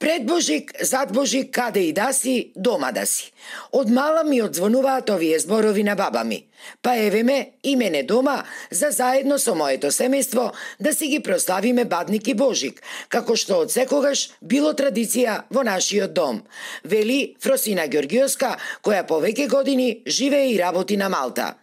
Пред Божик, зад Божик, каде и да си, дома да си. Од мала ми одзвонуваат овие зборови на баба ми. Па еве ме и мене дома, за заедно со моето семејство да си ги прославиме Бадник и Божик, како што од секогаш било традиција во нашиот дом, вели Фросина Ѓоргиовска, која повеќе години живее и работи на Малта.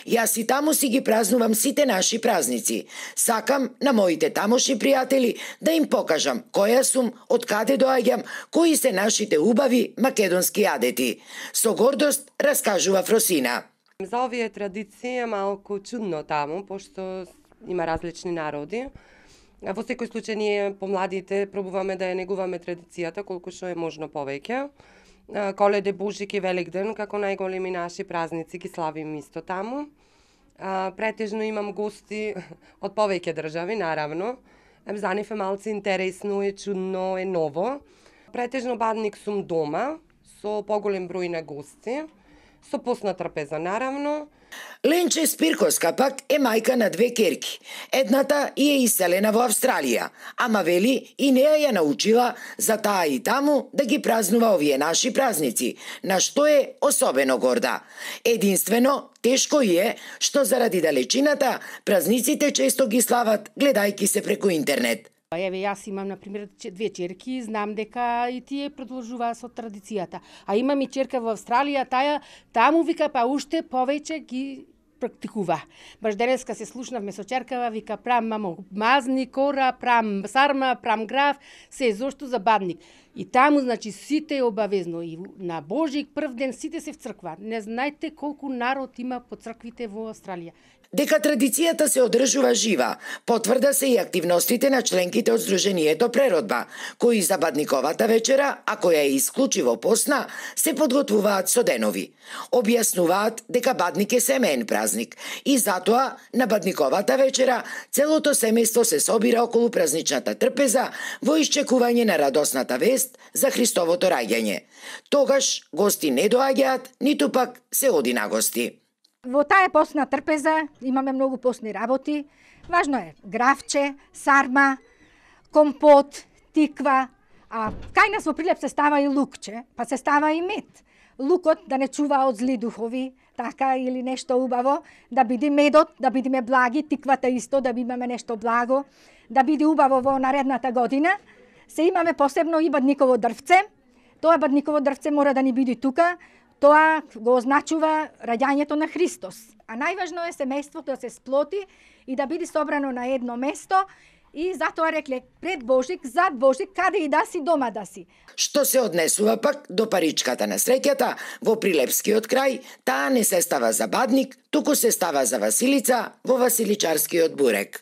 Јас и таму си ги празнувам сите наши празници. Сакам на моите тамошни пријатели да им покажам која сум, од каде доаѓам, кои се нашите убави македонски адети. Со гордост раскажува Фросина. За овие традиции е малку чудно таму, пошто има различни народи. Во секој случај ние помладите пробуваме да ја негуваме традицијата колку што е можно повеќе. Коледе, Божик и Великден, како најголеми наши празници, ги славим исто таму. Претежно имам гости од повеќе држави, наравно. За нив е малце интересно, е чудно, е ново. Претежно Бадник сум дома, со поголем број на гости, со постна трпеза, наравно. Ленче Спирковска пак е мајка на две керки. Едната е иселена во Австралија, ама вели и неја ја научила за таа и таму да ги празнува овие наши празници, на што е особено горда. Единствено, тешко е што заради далечината празниците често ги слават гледајки се преку интернет. Еве, јас имам, например, две черки, знам дека и тие продолжуваат со традицијата. А имам и черка во Австралија, таму вика, па уште повеќе ги практикува. Баш денеска се слушнавме со черкава, вика, прам мамо мазни, кора, прам сарма, прам граф, се зошто за Бадник. И таму, значи, сите е обавезно. И на Божик прв ден сите се в црква. Не знаете колку народ има по црквите во Австралија. Дека традицијата се одржува жива, потврда се и активностите на членките од Сдруженијето Преродба, кои за Бадниковата вечера, а која е исклучиво постна, се подготвуваат со денови. Објаснуваат дека Бадник е семеен празник и затоа на Бадниковата вечера целото семејство се собира околу празничната трпеза во исчекување на радосната вест за Христовото раѓање. Тогаш гости не доаѓаат, ниту пак се оди на гости. Во таа постна трпеза имаме многу постни работи. Важно е графче, сарма, компот, тиква, а кај нас во Прилеп се става и лукче, па се става и мед. Лукот да не чува од зли духови, така или нешто убаво, да биде медот, да бидеме благи, тиквата исто, да имаме нешто благо, да биде убаво во наредната година. Се имаме посебно и Бадниково дрвце. Тоа Бадниково дрвце мора да ни биде тука. Тоа го означува раѓањето на Христос. А најважно е семејството да се сплоти и да биде собрано на едно место. И затоа рекле, пред Божик, зад Божик, каде и да си, дома да си. Што се однесува пак до паричката на среќата, во Прилепскиот крај, таа не се става за Бадник, туку се става за Василица во Василичарскиот бурек.